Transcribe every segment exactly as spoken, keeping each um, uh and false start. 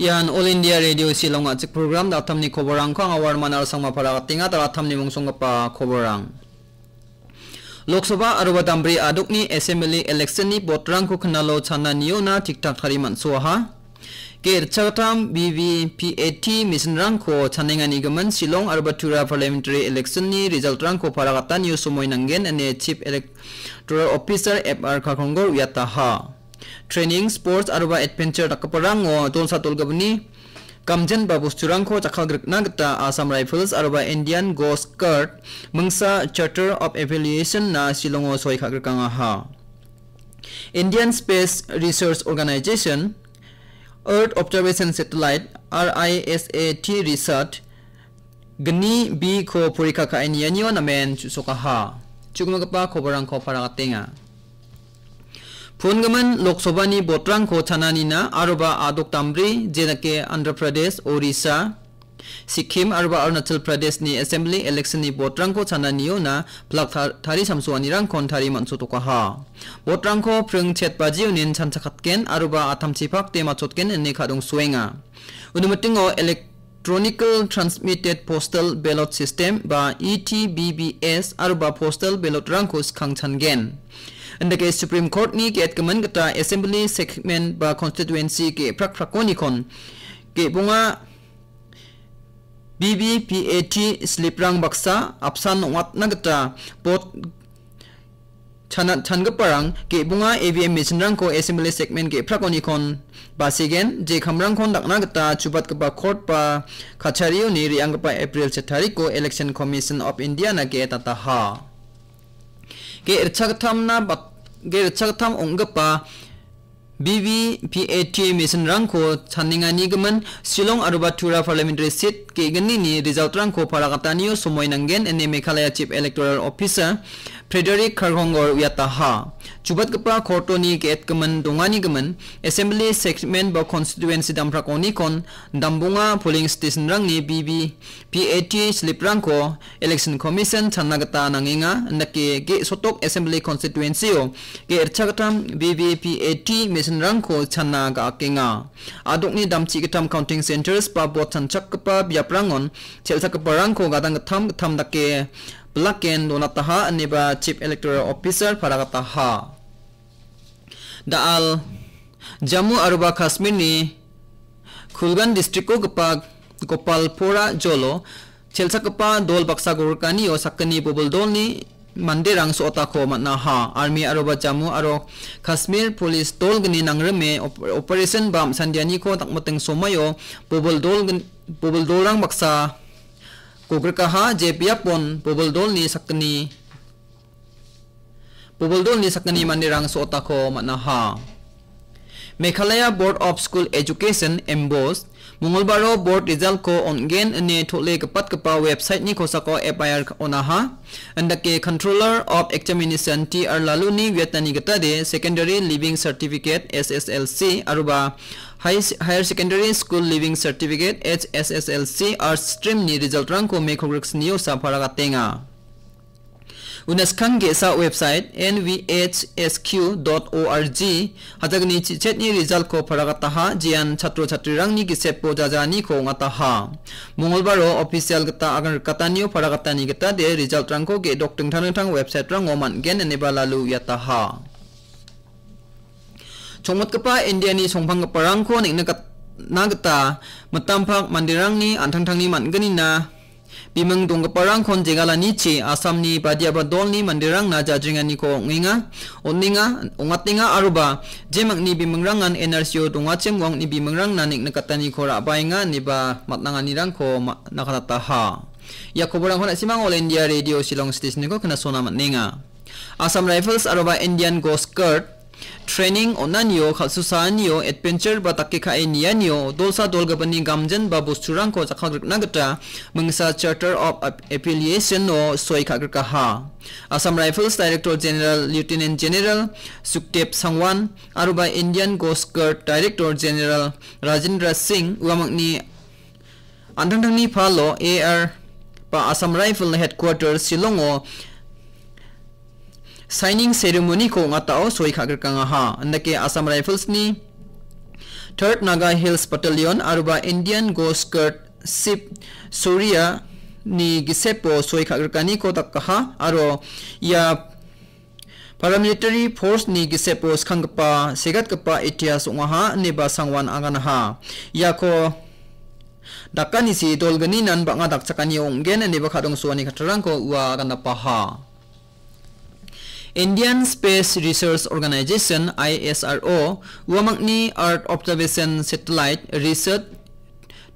Ian All India Radio Shillong a chik program da thamni khoborang khong awar manar sang ma para katinga da thamni mungsong kapa khoborang. Lok Sabha arwa dambri aduk ni assembly election ni vote rang ko khnalo chana nio na tik tak thari man suaha. Ke rchaktam B V P A T mission rang ko chanenga ni gaman Shillong arwa Tura parliamentary election ni result rang ko para kata nio sumoi nanggen ane chief electoral officer F R Kharkongor uyataha. Training, sports, arwa adventure da kaparang ngo tolsa tolgabni. Kamjen ba bus churang ko chakal grek na geta Assam Rifles arwa Indian Coast Guard mengsa Charter of Affiliation na Shillong o soi kha grek ha. Indian Space Research Organization Earth Observation Satellite R I S A T Research gni bi ko purika ka ini anyo na men chusoka ha. Chukma kapa khobarang ko para katenga. Phun gaman Lok Sabha ni vote rang ko chana nina arwa aduk tambri jenake Andhra Pradesh, Orissa, Sikkim arwa Arunachal Pradesh ni assembly election ni vote rang ko chana nio na plak thar- thari samsu ani rang kon thari mansu toka ha. Vote rang ko preng chet baji unin chan chakatken arwa atam chipak te machotken ene kadung suenga. Unumatingo electronical transmitted postal ballot system ba E T B B S arwa postal ballot rang ko skang changen. Anda ke Supreme Court ni ke et kemen kata assembly segment ba constituency ke prak prak koni kon ke bunga B B P A T slip rang baksa apsan wat na kata pot chanat chan keparang ke bunga A V M machine rang ko assembly segment ke prak koni kon basigen je kamrang kon dak na kata chubat kepa court pa kachari ni riang kepa April chetari ko Election Commission of India na ke tataha. Ke rchak tham na bat ke rchak tham ong kepa B V P A T mission rang ko channinga ni gaman Shillong arwa Tura parliamentary seat ke gani ni result rang ko para katanio sumoi nanggen ene Meghalaya Chief Electoral Officer Frederick Kharkongor uyataha. Chubat kepa korto ni ke et kemen dongani gaman assembly segment ba constituency damprak oni kon dambunga polling station rang ni B V P A T slip rang ko Election Commission channa kata nangenga nake ke sotok assembly constituency o ke rchak tham B V P A T mission rang ko channa ga akenga. Aduk ni damchi ketam counting centers pa bot chanchak kepa biap rangon chelsa kepa rang ko gadang ketam ketam dake pelaken donataha neba Chief Electoral Officer para kataha. Daal Jammu arwa Kashmir ni Kulgan district ko kepa Gopalpora jolo chelsa kepa dol baksa gorkani o sakani bubul dol ni manderang so ota ko matna ha. Army arwa Jammu aro Kashmir police dol gani nangreme op- operation bam sandiani ko tak mateng somayo bubul dol gen- bubul dol rang baksa ko grekaha je biapon bubul dol ni sakani Bubul dol ni sakani manderang so ota ko matna ha. Meghalaya Board of School Education embos Mongolbaro board result ko ongen ene thole kepat kepa website ni ko sako F I R onaha. Anda ke Controller of Examination T R Lalu ni vietnani kata de Secondary Leaving Certificate S S L C arwa High- Higher Secondary School Leaving Certificate H S S L C Arts Stream ni result rang ko me khogrek snio sa para katenga. Unaskang ke sa website N V H S Q dot org hajak ni chichet ni result ko para kataha jian chatro chatri rang ni kisep po jaja ni ko ngataha. Mongolbaro official kata agar kata ni o para kata ni kata de result rang ko ke dok tengtang tengtang website rang o man gen ene ba lalu yataha. Chongmot kepa India ni songpang kepa rang ko nik nekat na kata metampak mandirang ni antang tang ni man geni na Bimeng dong kepa rang kon jegala ni chi Assam ni badia badol ni mandirang na jajringan ni ko nginga oninga ongat ninga aruba jemak ni bimeng rangan N R C O donga chem wang ni bimeng rang na nik nekata ni ko rabai nga ni ba matnanga ni rang ko ma- nakata ha. Ya koborang kona simang All India Radio Shillong Station ni ko kena sona mat ninga. Assam Rifles aruba Indian Coast Guard Training onanio khalsusanio adventure ba takke kha enianio dolsa dolga bani gamjen ba bus churang ko chakha grikna gata mengsa Charter of Ap- Affiliation o soi kha grika ha. Assam Rifles Director General Lieutenant General Sukhdev Sangwan aruba Indian Coast Guard Director General Rajendra Singh uamang ni Antang tang ni pha lo A R pa Assam Rifle Headquarters Shillong o signing ceremony ko ngata o soi kha grkang ha. Anda ke Assam Rifles ni Third Naga Hills Battalion aruba Indian Coast Guard Ship Surya ni gisepo soi kha gerkani ko tak kaha aro ya paramilitary force ni gisepo skhang kapa segat kapa itias ungaha neba sangwan anganaha. Ya ko dakani si dolgani nan ba nga dak chakani onggen neba khadong suani khatarang ko ua aganapaha. Indian Space Research Organization, I S R O, Wamangni Earth Observation Satellite Research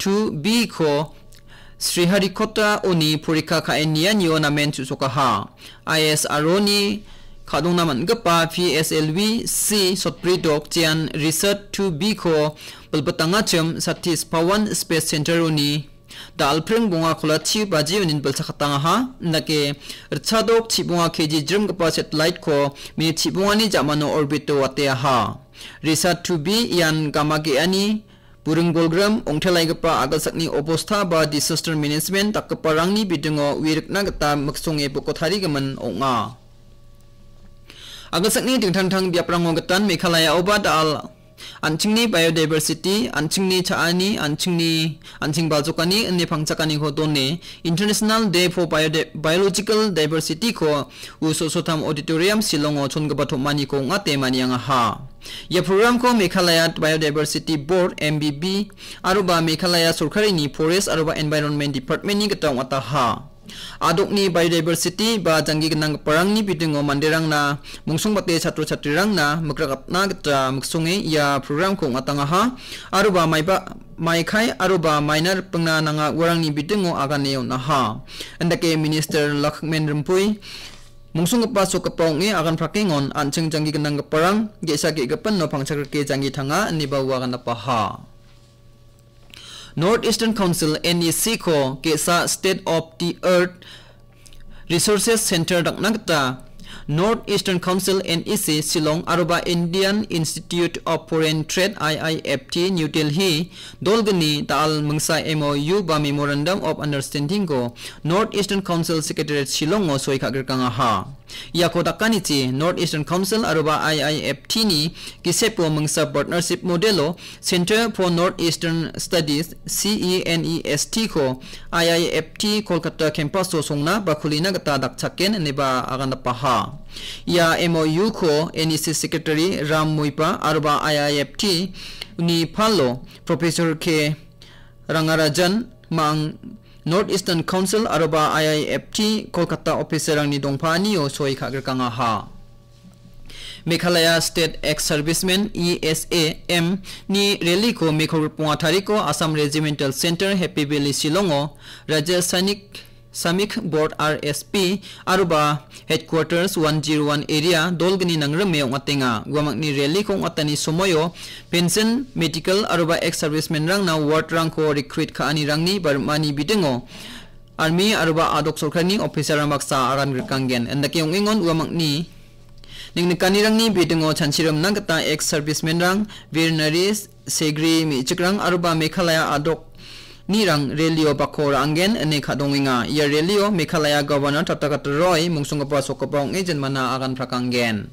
two B ko Sriharikota uni purika ka enian yo namen susokaha. I S R O ni kadung naman gepa P S L V C Sotpridok Chian Research two B ko belbetangachem Satish Pawan Space Center uni da alpring bunga khula chi baji unin bel sakatang aha, nake rchadok chi bunga K G jrem kapa satellite ko minit chi bunga ni jamano orbit to wate aha. Risat two B yan kama ke ani burung bolgram ongthelai kapa agal sakni obostha ba disaster management tak kapa rangni bidungo wirikna kata maksung e pokot hari gaman onga. Agal sakni dingthang thang biap rango katan Meghalaya oba da al Anchingni biodiversity, anchingni chaani, anchingni, anching baljokani, ne phangchakani ho donne, International Day for Biode-, Biological Diversity ko, u sosotham auditorium Shillong o chon gaba thomani ko ngate mani ang ha. Ya program ko Meghalaya Biodiversity Board, M B B, aruba Meghalaya Sorkari ni Forest aruba Environment Department ni gata ngata ha. Adok ni biodiversity ba janggi genang parang ni bidung o mandirang na mungsung bate chatru chatrirang na mekrakat na getra muksungi ya program kong atang aha aruba mai ba mai khai aruba minor pengna nanga warang ni bidung o agan neo na ha. Endake Minister Lakmen Rempui mungsung kepa so kepa ngi agan prakengon ancheng janggi genang parang gesa ge gepen no pangchakar ke janggi thanga ni ba wagan apa ha. North Eastern Council, N E C ko kesa State of the Earth Resources Center dak nangta. North Eastern Council, N E C, Shillong, aruba Indian Institute of Foreign Trade, I I F T, New Delhi, dolgani ta al mengsa M O U ba Memorandum of Understanding ko North Eastern Council Secretariat Shillong o soi kha gerkang aha. Yako dakani chi North Eastern Council aruba I I F T ni kisepo mengsa partnership modelo Center for North Eastern Studies, C E N E S T ko I I F T Kolkata campus to songna ba khulina kata dak chaken neba agan paha. Ya M O U ko N E C Secretary Ram Muipa aruba I I F T ni palo Professor K Rangarajan mang North Eastern Council aruba I I F T Kolkata officer ang ni dongpa ni o soi kha gerkang aha. Meghalaya State Ex-Servicemen, E S A M, ni rally ko Meghalaya punga thariko Assam Regimental Center, Happy Valley, Shillong o, Rajya Sainik Samik Board, R S P, aruba Headquarters one zero one Area, dolgani nangrem meong atenga, guamak ni rally kong atani somoyo, pension, medical, aruba ex-servicemen rang na ward rang ko recruit ka ani rang ni barmani bidengo, Army aruba adok sorkar ni officer rang baksa aran gerkang gen. Enda ke ong ingon ua mangni. Ning nekani rang ni bidengo chanchiram nang kata ex servicemen rang, Vir Naris, Segri, mi chikrang aruba Meghalaya adok ni rang relio bako ra anggen ene khadong inga. Ia relio Meghalaya Governor Tata Kata Roy mungsung kapa sok kapa ong ejen mana agan prakang gen.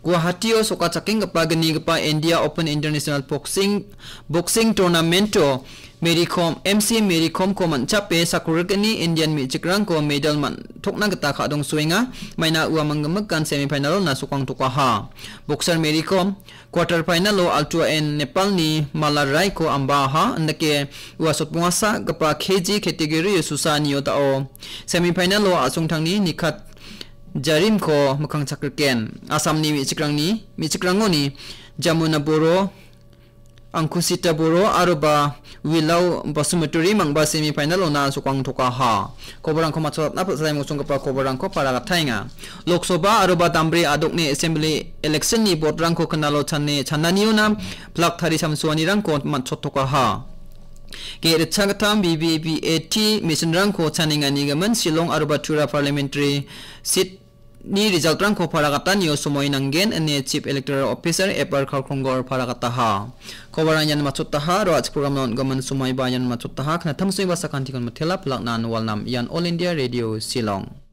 Guwahati o soka chaking kapa geni kapa India Open International Boxing, Boxing Tournament o Mary Kom, M C Mary Kom ko manchape sakurir geni Indian mi chikrang ko medal man thokna geta khadong suinga, maina ua manggemekan semi final na sukang tukaha. Boxer Mary Kom, quarter final o Altua N Nepal ni Mala Rai ko amba ha, ndake ua sotbungasa kapa K G category o susa ni o ta o. Semi final o asung thang ni nikat Jarim ko mekang chakriken. Assam ni mi chikrang ni, mi chikrang ni, Jamuna Boro, Angkusita Boro, aruba Wilau Basumaturi mangba semi final ona sukang toka ha. Koborang ko machot na patsai musung kapa koborang ko para katainga. Lok Sabha aruba Tambri adok ni assembly election ni bot rang ko kenalo chane chanani ona plak thari samsuani rang ko machot toka ha. Ke recha katam B B B A T mission rang ko chaninga ni gaman Shillong aruba Tura parliamentary seat ni result rang ko para kata ni o sumoi nanggen ene Chief Electoral Officer F R Kharkongor para kata ha. Koborang yan machot taha ro ach program non gaman sumoi ba yan machot taha kana tam sumoi ba sakan tikon matela plak nan walnam yan All India Radio Shillong.